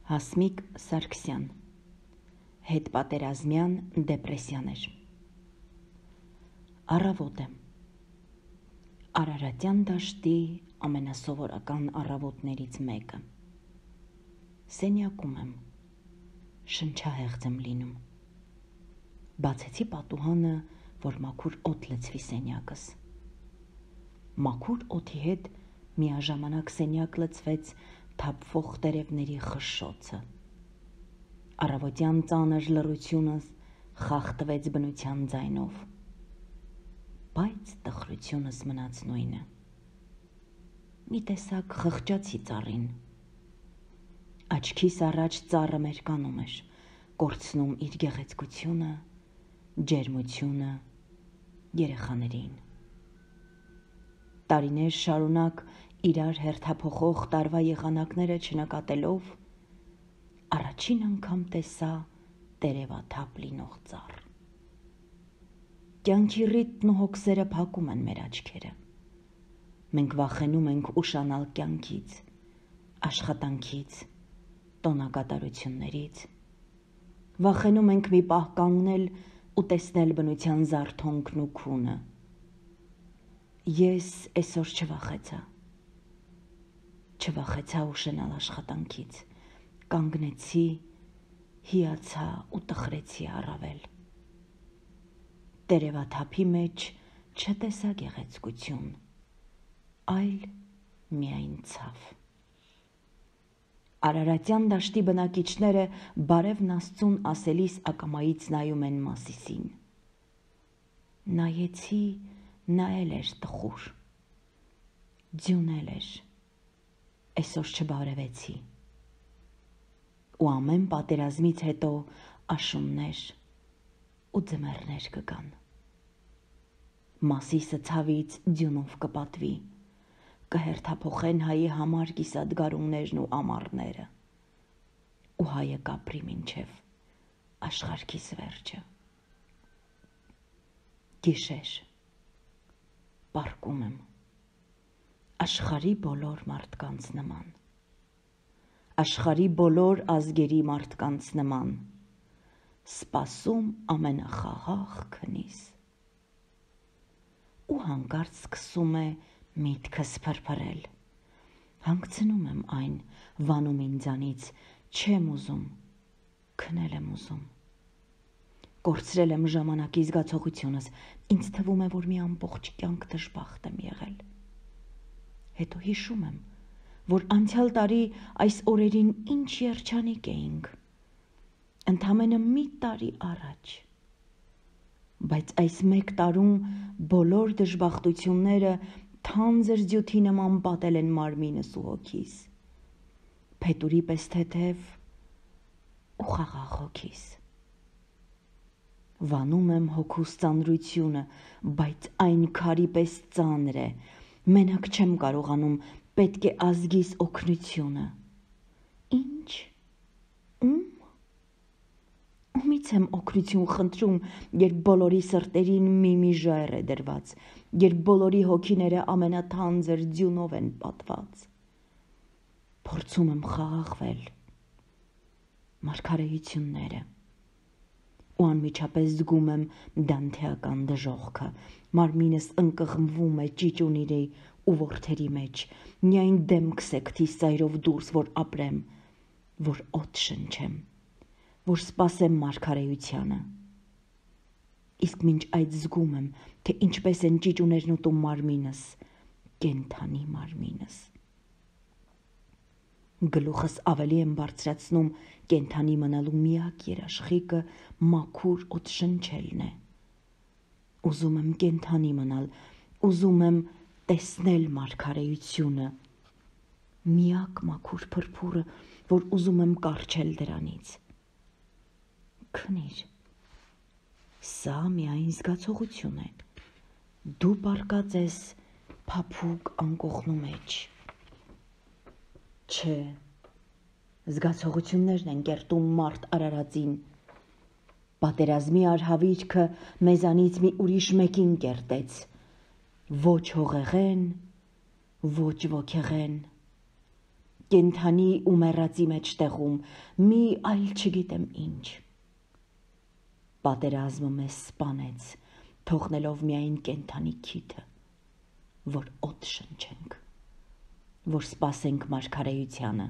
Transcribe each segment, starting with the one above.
Հասմիկ Սարգսյան, հետպատերազմյան դեպրեսիաներ։ Առավոտ է։ Արարատյան դաշտի ամենասովորական առավոտներից մեկը։ Սենյակում եմ, շնչահեղձ եմ լինում։ Բացեցի պատուհանը, որ մաքուր օդ լցվի սենյակս։ Մաքուր օդի հետ միաժամանակ սենյակ լցվեց թափվող տերևների խշշոցը։ Առավոտյան ծանր լռությունս խախտվեց բնության ձայնով, բայց տխրությունս մնաց նույնը։ Մի տեսակ խղճացի ծառին։ Աչքիս առաջ ծառը մերկանում էր, կորցնում իր գեղեցկությունը, ջերմությունը երեխաներին։ Տարիներ շարունակ իրար հերթափոխող տարվա եղանակները չնկատելով, առաջին անգամ տեսա տերևաթափ լինող ծառ։ Կյանքի ռիթմն ու հոգսերը փակում են մեր աչքերը։ Մենք վախենում ենք ուշանալ կյանքից, աշխատանքից, տոնակատարություններից։ Վախենում ենք մի պահ կանգնել ու տեսնել բնության զարթոնքն ու քունը։ Ես այսօր չվախեցա ուշանալ աշխատանքից, կանգնեցի, հիացա ու տխրեցի առավել։ Տերևաթափի մեջ չտեսա գեղեցկություն, այլ միայն ցավ։ Արարատյան դաշտի բնակիչները բարևն Աստծուն ասելիս ակամայից նայում են Մասիսին։ Նայեցի, նա էլ էր տխուր, ձյունել էր, այսօր չբարևեցի։ Ու ամեն պատերազմից հետո աշուններ ու ձմեռներ կգան։ Մասիսը ցավից ձյունով կպատվի, կհերթափոխեն հայի համար կիսադգարուններն ու ամառները, ու հայը կապրի մինչև աշխարհքիս վերջը։ Գիշեր, պառկում եմ, աշխարհի բոլոր մարդկանց նման, աշխարհի բոլոր ազգերի մարդկանց նման, սպասում ամենախաղաղ քնիս։ Ու հանկարծ սկսում է միտքս փրփրել, հանգցնում եմ այն, վանում ինձանից, չեմ ուզում, քնել եմ ուզում։ Կորցրել եմ ժամանակի զգացողությունս, ինձ թվում է, որ մի ամբողջ կյանք դժբախտ եմ եղել։ Հետո հիշում եմ, որ անցյալ տարի այս օրերին ինչ երջանիկ էինք, ընդամենը մի տարի առաջ, բայց այս մեկ տարում բոլոր դժբախտությունները թանձր ձյութի նման պատել են մարմինս ու հոգիս, փետուրի պես թեթև ու խաղաղ հոգիս։ Վանում եմ հոգուս ծանրությունը, բայց այն քարի պես ծանր է, մենակ չեմ կարողանում, պետք է ազգիս օգնությունը։ Ինչ? Ում? Ումից եմ օգնություն խնդրում, երբ բոլորի սրտերին մի ժայռ է դրված, երբ բոլորի հոգիները ամենաթանձր ձյունով են պատված։ Փորձում եմ խաղաղվել։ Մարգարեությունները։ Ու անմիջապես զգում եմ դանթեական դժոխքը, մարմինս ընկղմվում է ճիճունիրի ու որդերի մեջ, միայն դեմքս է քթիս ծայրով դուրս, որ ապրեմ, որ օդ շնչեմ, որ սպասեմ մարգարեությանը։ Իսկ մինչ այդ զգում եմ, թե ինչպես են ճիճուներն ուտում մարմինս, կենդանի մարմինս։ Գլուխս ավելի եմ բարձրացնում կենդանի մնալու միակ երաշխիքը մաքուր օդ շնչելն է։ Ուզում եմ կենդանի մնալ, ուզում եմ տեսնել մարգարեությունը, միակ մաքուր փրփուրը, որ ուզում եմ կառչել դրանից։ Քնիր, սա միայն զգացողություն է, դու պառկած ես փափուկ անկողնու մեջ։ Չէ, զգացողություններն են կերտում մարդ արարածին, պատերազմի արհավիրքը մեզանից մի ուրիշ մեկին կերտեց, ոչ հողեղեն, ոչ ոգեղեն, կենթանի ու մեռածի մեջտեղում, մի այլ չգիտեմ ինչ։ Պատերազմը մեզ սպանեց, թողնելով միայն կենթանի քիթը, որ օդ շնչենք, որ սպասենք մարգարեությանը։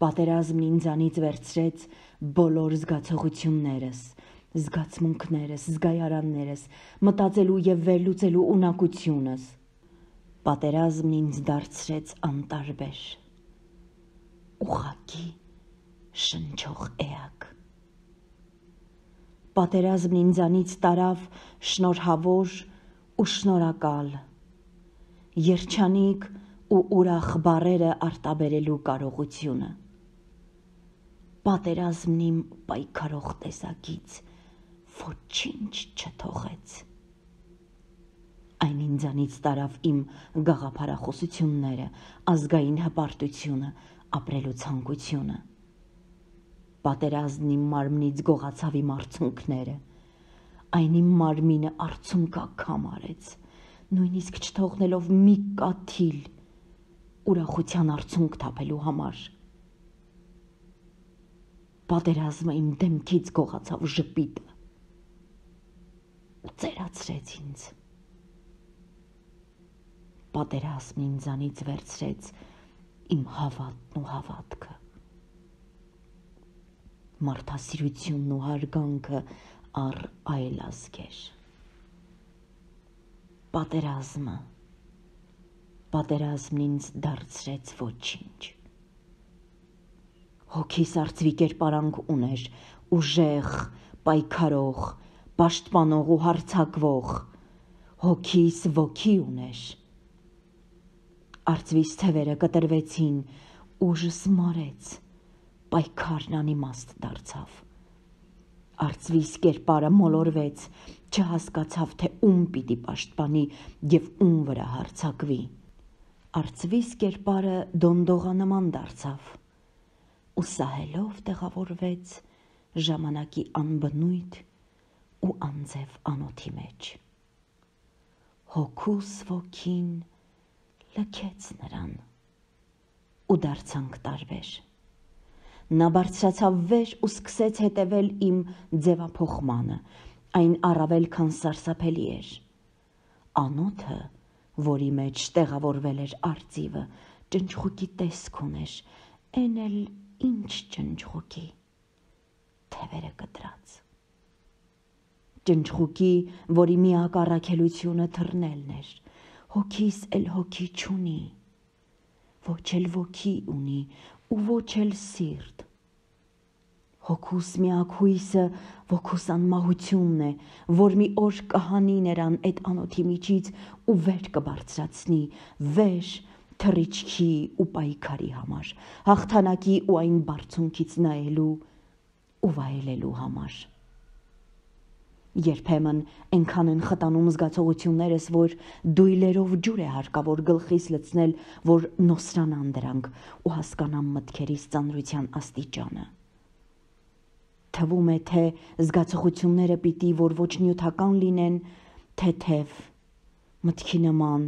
Պատերազմն ինձանից վերցրեց բոլոր զգացողություններս, զգացմունքներս, զգայարաններս, մտածելու եւ վերլուծելու ունակությունս։ Պատերազմն ինձ դարձրեց անտարբեր, ուղղակի շնչող էակ։ Պատերազմն ինձանից տարավ շնորհավոր ու շնորհակալ, երջանիկ ու ուրախ բառերը արտաբերելու կարողությունը։ Պատերազմն իմ պայքարող տեսակից ոչինչ չթողեց։ Այն ինձանից տարավ իմ գաղափարախոսությունները, ազգային հպարտությունը, ապրելու ցանկությունը։ Պատերազմն իմ մարմնից գողացավ իմ արցունքները, այն իմ մարմինը արցունքակամ արեց, նույնիսկ չթողնելով մի կաթիլ ուրախության արցունք թափելու համար։ Պատերազմը իմ դեմքից գողացավ ժպիտը ու ծերացրեց ինձ։ Պատերազմն ինձանից վերցրեց իմ հավատն ու հավատքը, մարդասիրությունն ու հարգանքը առ այլ ազգեր։ Պատերազմն ինձ դարձրեց ոչինչ։ Հոգիս արծվի կերպարանք ուներ, ուժեղ, պայքարող, պաշտպանող ու հարձակվող, հոգիս ոգի ուներ։ Արծվիս թևերը կտրվեցին, ուժս մարեց, պայքարն անիմաստ դարձավ։ Արծվիս կերպարը մոլորվեց, չհասկացավ, թե ում պիտի պաշտպանի և ում վրա հարձակվի։ Արծվիս կերպարը դոնդողանման դարձավ ու սահելով տեղավորվեց ժամանակի անբնույթ ու անձև անոթի մեջ։ Հոգուս ոգին լքեց նրան ու դարձանք տարբեր։ Նա բարձրացավ վեր ու սկսեց հետևել իմ ձևափոխմանը, այն առավել քան սարսափելի էր։ Անոթը, որի մեջ տեղավորվել էր արծիվը, ճնճղուկի տեսք ուներ, էն էլ ինչ ճնճղուկի, թևերը կտրած։ Ճնճղուկի, որի միակ առաքելությունը թռնելն էր, հոգիս էլ հոգի չունի, ոչ էլ ոգի ունի ու ոչ էլ սիրտ։ Հոգուս միակ հույսը ոգուս անմահությունն է, որ մի օր կհանի նրան այդ անոթի միջից ու վեր կբարձրացնի, վեր թռիչքի ու պայքարի համար, հաղթանակի ու այն բարձունքից նայելու ու վայելելու համար։ Երբեմն այնքան են խտանում զգացողություններս, որ դույլերով ջուր է հարկավոր գլխիս լցնել, որ նոսրանան դրանք ու հասկանամ մտքերիս ծանրության աստիճանը։ Թվում է, թե զգացողությունները պիտի, որ ոչ նյութական լինեն, թեթև, մտքի նման,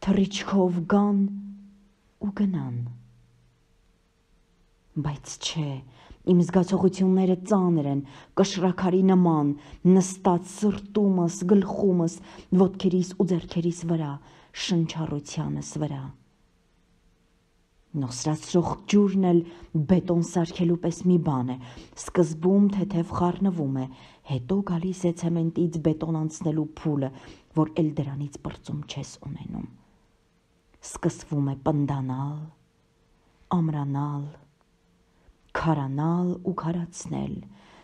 թռիչքով գան ու գնան։ Բայց չէ, իմ զգացողությունները ծանր են, կշռաքարի նման, նստած սրտումս, գլխումս, ոտքերիս ու ձեռքերիս վրա, շնչառությանս վրա։ Նոսրացրող ջուրն էլ բետոն սարքելու պես մի բան է, սկզբում թեթև խառնվում է, հետո գալիս է ցեմենտից բետոն անցնելու փուլը, որ էլ դրանից պրծում չես ունենում։ Սկսվում է պնդանալ, ամրանալ, քարանալ ու քարացնել,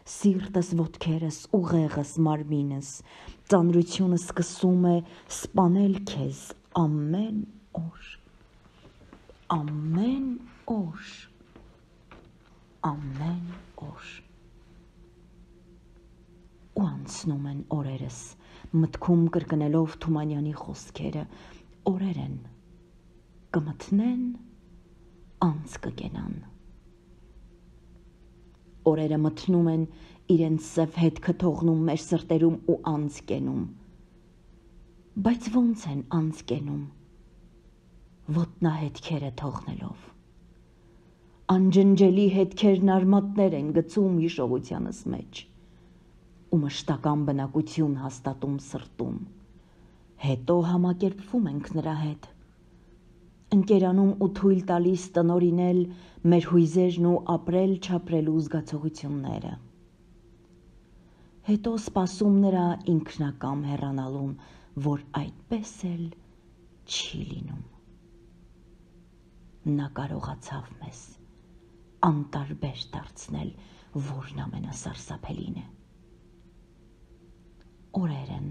սիրտս, ոտքերս, ուղեղս, մարմինս, ծանրությունը սկսում է սպանել քեզ ամեն օր, ամեն օր, ամեն օր։ Ու անցնում են օրերս, մտքում կրկնելով Թումանյանի խոսքերը, օրեր են, կմտնեն, անց կգենան։ Օրերը մտնում են, իրենց սև հետքը թողնում մեր սրտերում ու անց կենում։ Բայց ոնց են անց կենում։ ոտնահետքերը թողնելով։ Անջնջելի հետքերն արմատներ են գցում հիշողությանս մեջ ու մշտական բնակություն հաստատում սրտում, հետո համակերպվում ենք նրա հետ, ընկերանում ու թույլ տալիս տնօրինել մեր հույզերն ու ապրել չապրելու զգացողությունները, հետո սպասում նրա ինքնակամ հեռանալուն, որ այդպես էլ չի լինում։ Նա կարողացավ մեզ անտարբեր դարձնել, որն ամենասարսափելին է։ Օրերն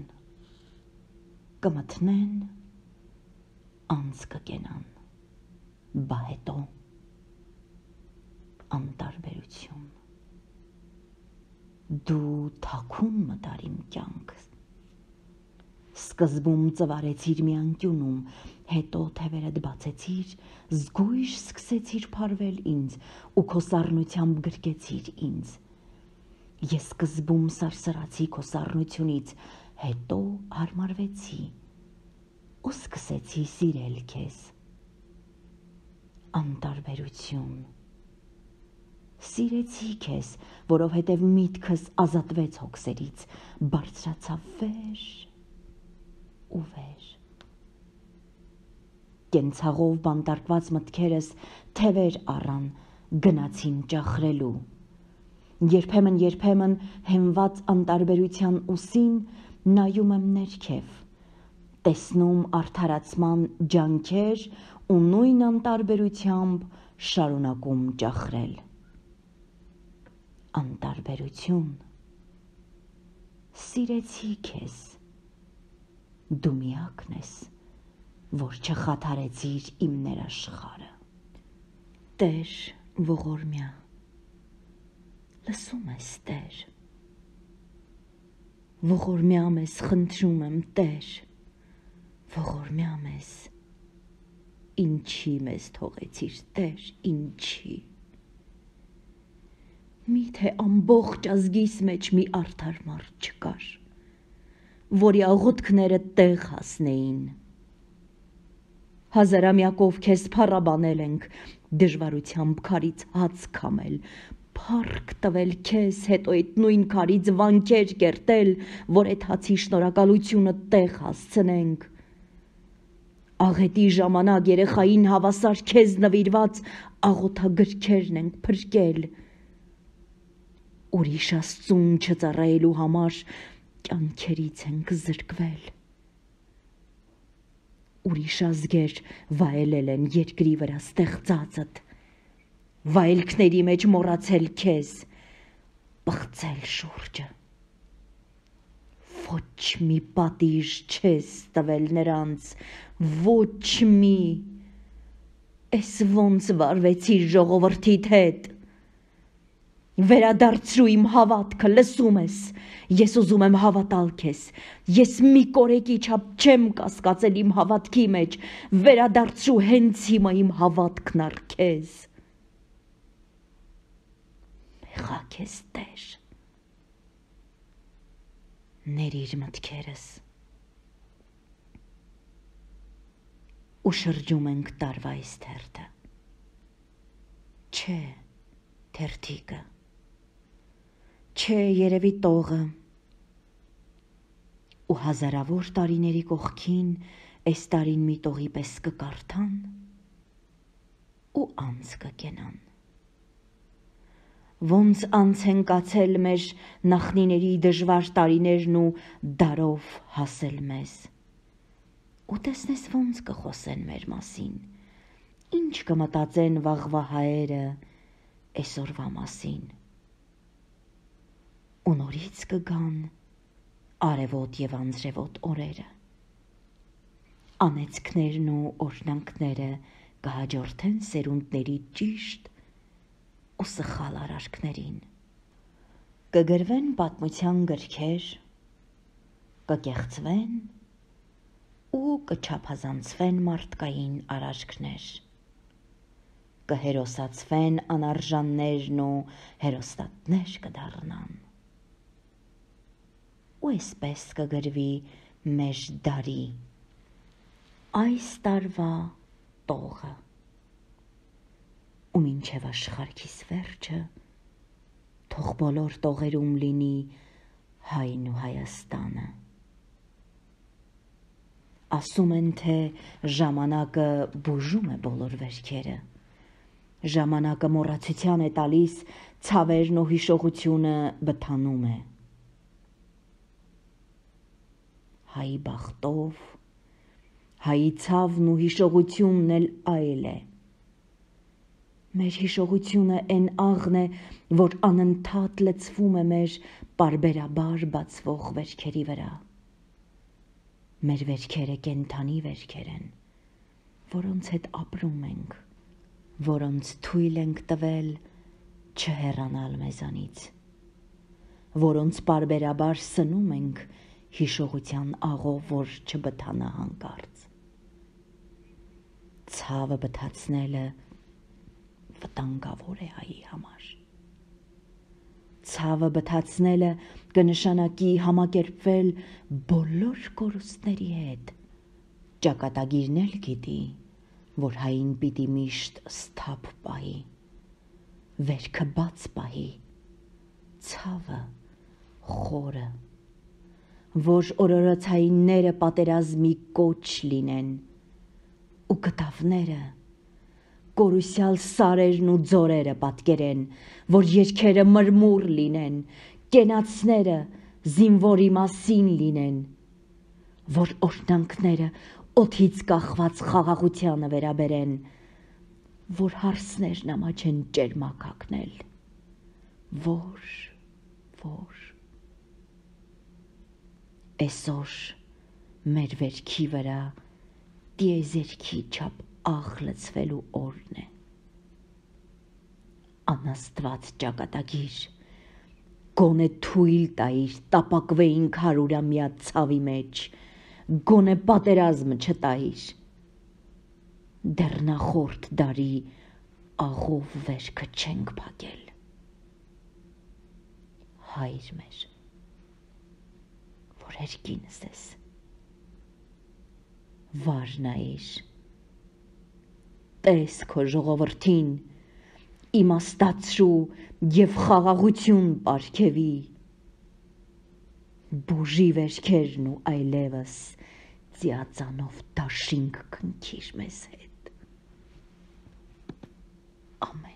կմթնեն, անց կկենան, բա հետո անտարբերություն։ Դու թաքուն մտար իմ կյանք, սկզբում ծվարեցիր մի անկյունում, հետո թևերդ բացեցիր, զգույշ սկսեցիր փարվել ինձ ու քո սառնությամբ գրկեցիր ինձ։ Ես սկզբում սարսռացի քո սառնությունից, հետո հարմարվեցի ու սկսեցի սիրել քեզ։ Անտարբերություն։ Սիրեցի քեզ, որովհետև միտքս ազատվեց հոգսերից, բարձրացավ վեր ու վեր։ Կենցաղով բանտարկված մտքերս թևեր առան, գնացին ճախրելու։ Երբեմն հենված անտարբերության ուսին նայում եմ ներքև, տեսնում արդարացման ջանքեր ու նույն անտարբերությամբ շարունակում ճախրել։ Անտարբերություն։ Սիրեցի քեզ, դու միակն ես, որ չխաթարեցիր իմ ներաշխարը։ Տեր ողորմյա, լսում ես, Տեր։ Ողորմյա մեզ խնդրում եմ, Տեր, ողորմյա մեզ, ինչի մեզ թողեցիր, Տեր, ինչի։ Միթե ամբողջ ազգիս մեջ մի արդար մարդ չկար, որի աղոթքները տեղ հասնեին։ Հազարամյակով քեզ փառաբանել ենք, դժվարությամբ քարից հաց քամել, փառք տվել քեզ, հետո այդ նույն քարից վանքեր կերտել, որ այդ հացի շնորհակալությունը տեղ հասցնենք։ Աղետի ժամանակ երեխային հավասար քեզ նվիրված աղոթագրքերն ենք փրկել։ Ուրիշ Աստծուն չծառայելու համար կյանքերից ենք զրկվել։ Ուրիշ ազգեր վայելել են երկրի վրա ստեղծածդ, վայելքների մեջ մոռացել քեզ, պղծել շուրջը։ Ոչ մի պատիժ չես տվել նրանց, ոչ մի։ Էս ոնց վարվեցիր ժողովրդիդ հետ։ Վերադարձրու իմ հավատքը, լսում ես, ես ուզում եմ հավատալ քեզ, ես մի կորեկի չափ չեմ կասկածել իմ հավատքի մեջ, վերադարձրու հենց հիմա իմ հավատքն առ քեզ։ Մեղա քեզ, Տեր, ներիր մտքերս ու շրջում ենք տարվա այս թերթը, չէ թերթիկը, չէ երևի տողը, ու հազարավոր տարիների կողքին այս տարին մի տողի պես կկարդան ու անց կկենան։ Ոնց անց են կացել մեր նախնիների դժվար տարիներն ու դարով հասել մեզ։ Ու տեսնես ոնց կխոսեն մեր մասին, ինչ կմտածեն վաղվա հայերը այսօրվա մասին։ Ու նորից կգան արևոտ և անձրևոտ օրերը, անեծքներն ու օրհնանքները կհաջորդեն սերունդների ճիշտ ու սխալ արարքներին, կգրվեն պատմության գրքեր, կկեղծվեն ու կչափազանցվեն մարդկային արարքներ, կհերոսացվեն անարժաններն ու հերոստատներ կդառնան։ Ու այսպես կգրվի մեր դարի, այս տարվա տողը, ու մինչև աշխարհքիս վերջը թող բոլոր տողերում լինի Հայն ու Հայաստանը։ Ասում են, թե ժամանակը բուժում է բոլոր վերքերը, ժամանակը մոռացության է տալիս, ցավերն ու հիշողությունը բթանում է։ Հայի բախտով, հայի ցավն ու հիշողությունն էլ այլ է։ Մեր հիշողությունը այն աղն է, որ անընդհատ լցվում է մեր պարբերաբար բացվող վերքերի վրա։ Մեր վերքերը կենդանի վերքեր են, որոնց հետ ապրում ենք, որոնց թույլ ենք տվել չհեռանալ մեզանից, որոնց պարբերաբար սնում ենք հիշողության աղով, որ չբթանա հանկարծ։ Ցավը բթացնելը վտանգավոր է հայի համար։ Ցավը բթացնելը կնշանակի համակերպվել բոլոր կորուստների հետ։ Ճակատագիրն էլ գիտի, որ հային պիտի միշտ սթափ պահի, վերքը բաց պահի, ցավը խորը, որ օրորոցայինները պատերազմի կոչ լինեն, ու կտավները կորուսյալ սարերն ու ձորերը պատկերեն, որ երգերը մրմուռ լինեն, կենացները զինվորի մասին լինեն, որ օրհնանքները օդից կախված խաղաղությանը վերաբերեն, որ հարսներն ամաչեն ճերմակ հագնել, որ Այսօր մեր վերքի վրա տիեզերքի չափ աղ լցվելու օրն է։ Անաստված ճակատագիր, գոնե թույլ տայիր տապակվեինք 100-ամյա ցավի մեջ, գոնե պատերազմ չտայիր, դեռ նախորդ դարի աղով վերքը չենք փակել։ Հայր մեր, որ երկինս ես, վար նայիր, տես քո ժողովրդին, իմաստացրու և խաղաղություն պարգևի, բուժի վերքերն ու այլևս ծիածանով դաշինք քնքիր մեզ հետ։ Ամեն։